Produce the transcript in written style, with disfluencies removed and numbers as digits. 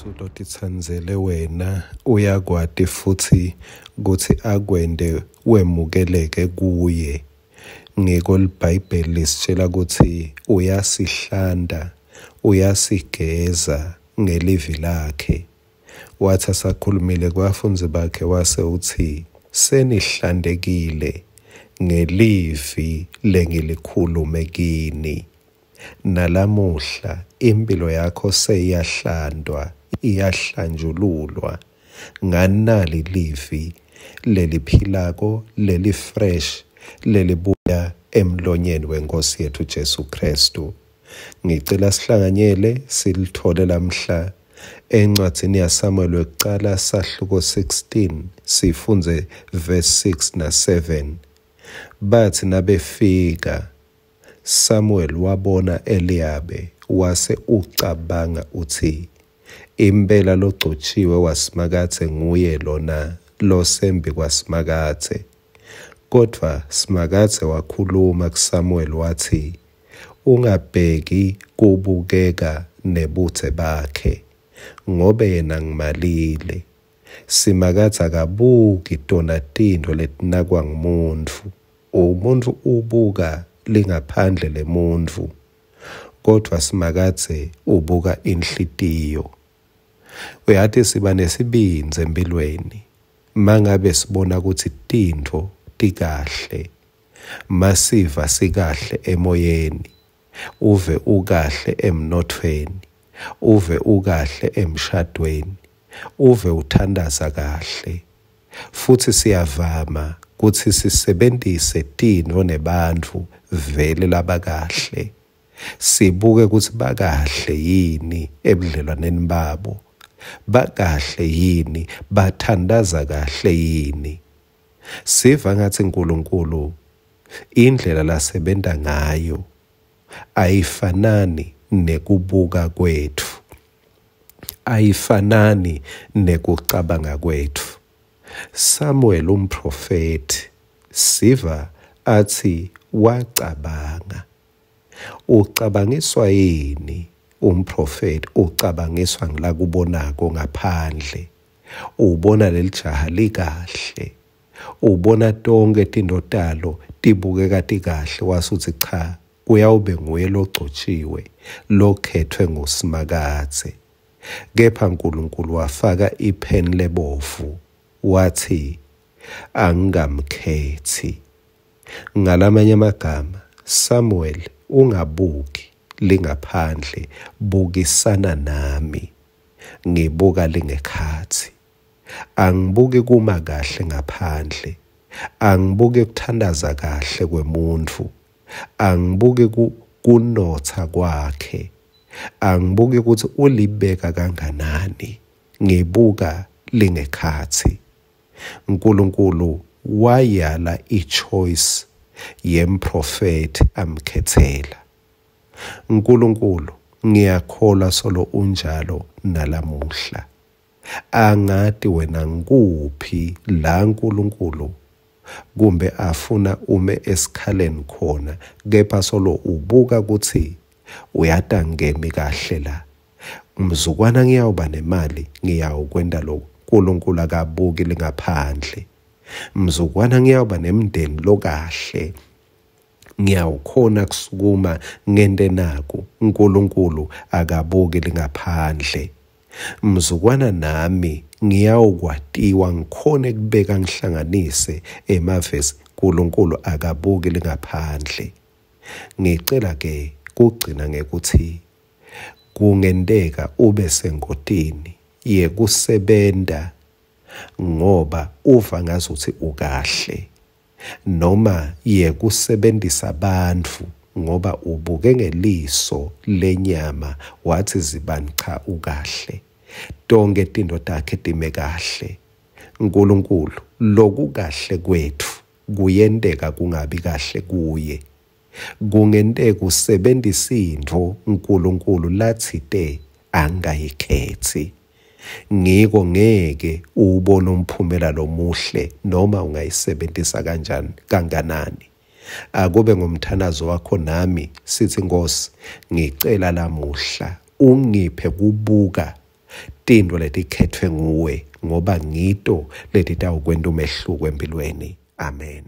Jesu lotitsandzele wena uyakwati futsi kutsi akwente wemukeleke kuye. Ngiko liBhayibheli lisitjela kutsi uyasihlanta, uyasigeza ngelivi lakhe. Watsi asakhulumile kubafundzi bakhe wase utsi, senihlantekile ngelivi lengilikhulume kini. Nalamuhla imphilo yakho seyiyahlantwa, iyahlanjululwa nganali livi leliphilako, leli-fresh, lelibuya emlonyeni weNkhosi yetfu Jesu Khristu. Ngicela sihlanganyele silithole lamhla encwadzini yaSamuel wekucala sahluko 16 sifundze verse 6 na 7. Batsi nabefika Samuel wabona Eliyabe wase ucabanga utsi, impela logcotjiwe waSimakadze nguye lona losembi kwaSimakadze. Kodvwa Simakadze wakhuluma kuSamuel watsi, ungabheki kubukeka nebudze bakhe, ngobe yena ngimalile. Simakadze akabuki tona tintfo letinakwa ngumuntfu. Umuntfu ubuka lingaphandle lemuntfu, kodvwa Simakadze ubuka inhlitiyo. Uyati siba nesibindzi empilweni mangabe sibona kutsi tintfo tikahle, masiva sikahle emoyeni, uve ukahle emnothweni, uve ukahle emshadweni, uve uthandaza kahle. Futsi siyavama kutsi sisebentise tintfo nebantfu vele labakahle, sibuke kutsi bakahle yini ebudlelwaneni babo, bakahle yini, bathandaza kahle yini. Siva ngatsi Nkulunkulu indlela lasebenta ngayo ayifanani nekubuka kwetfu, ayifanani nekucabanga kwetfu. Samuel umprofethi siva atsi wacabanga. Ucabangiswa yini umprofethi? Ucabangiswa ngilakubonako ngaphandle. Ubona lelijaha likahle, ubona tonke tintfo talo tibukeka tikahle, wasutsi cha, kuyawube nguye logcotjiwe lokhetfwe nguSimakadze. Kepha Nkulunkulu wafaka ipheni lebovu wathi angingamkhethi. Ngalamanye amagama, Samuel ungabuki lingaphandle, bukisana nami, ngibuka lingekhatsi. Angibuki kuma kahle ngaphandle, angibuki kuthandaza kahle kwemuntfu, angibuki kunotsa kwakhe, angibuki kutsi ulibeka kanganani, ngibuka lingekhatsi. Nkulunkulu wayala i-choice yemprofethi amkhethela. Nkulunkulu ngiyakholwa solo unjalo nalamuhla. Angati wena ngikuphi la Nkulunkulu kumbe afuna ume esikhaleni khona, kepha solo ubuka kutsi uyata ngemi kahle la. Mzukwana ngiyawuba nemali, ngiyawukwenta lokhu. Nkulunkulu akabuki lingaphandle. Mzukwana ngiyawuba nemndeni lokahle, ngiyawukhona kusukuma ngente naku. Nkulunkulu akabuki lingaphandle. Mzukwana nami ngiyawukwatiwa ngikhone kubeka ngihlanganise emavesi. Nkulunkulu akabuki lingaphandle. Ngicela ke kugcina ngekuthi kungenteka ube sengotini yekusebenta ngoba uva ngazuthi ukahle, noma yekusebentisa bantfu ngoba ubuke ngeliso lenyama wathi zibani cha ukahle, tonke tintfo takhe time kahle. Nkulunkulu lokukahle kwetfu kuyenteka kungabi kahle kuye. Kungenteka usebentise intfo Nkulunkulu latsite angayikhethi. Ngiko ngeke uwubone umphumela lomuhle noma ungayisebentisa kanjani kanganani. Akube ngumthandazo wakho nami sithi Nkosi, ngicela lamuhla ungiphe kubuka Tintfo letikhetfwe nguwe ngoba ngito letitawukwenta umehluko empilweni. Amen.